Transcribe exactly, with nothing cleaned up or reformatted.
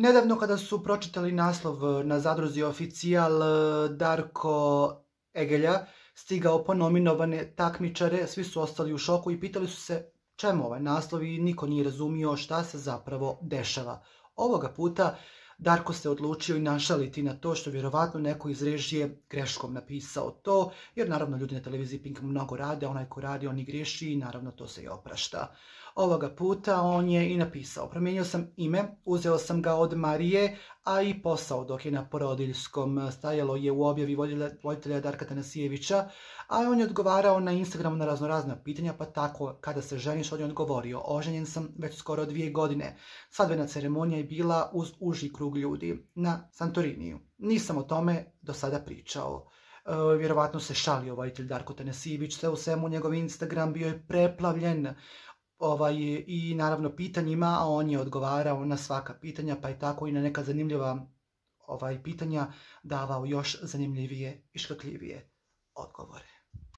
nedavno kada su pročitali naslov na Zadruzi Oficijal, Darko Egelja stigao po nominovane takmičare, svi su ostali u šoku i pitali su se čemu ovaj naslov i niko nije razumio šta se zapravo dešava. Ovoga puta Darko se odlučio i našaliti na to što vjerovatno neko iz režije greškom napisao to, jer naravno ljudi na televiziji Pink mnogo rade, onaj ko radi on i griješi i naravno to se i oprašta. Ovoga puta on je i napisao: promijenio sam ime, uzeo sam ga od Marije, a i posao dok je na porodiljskom. Stajalo je u objavi voditelja Darka Tanasijevića, a on je odgovarao na Instagramu na raznorazna pitanja, pa tako kada se ženiš, on je odgovorio: oženjen sam već skoro dvije godine. Svadbena ceremonija je bila uz uži krug ljudi na Santoriniju. Nisam o tome do sada pričao. E, vjerovatno se šalio voditelj Darko Tanasijević, sve u svemu njegov Instagram bio je preplavljen Ovaj, i naravno pitanjima, a on je odgovarao na svaka pitanja, pa je tako i na neka zanimljiva ovaj, pitanja davao još zanimljivije i škakljivije odgovore.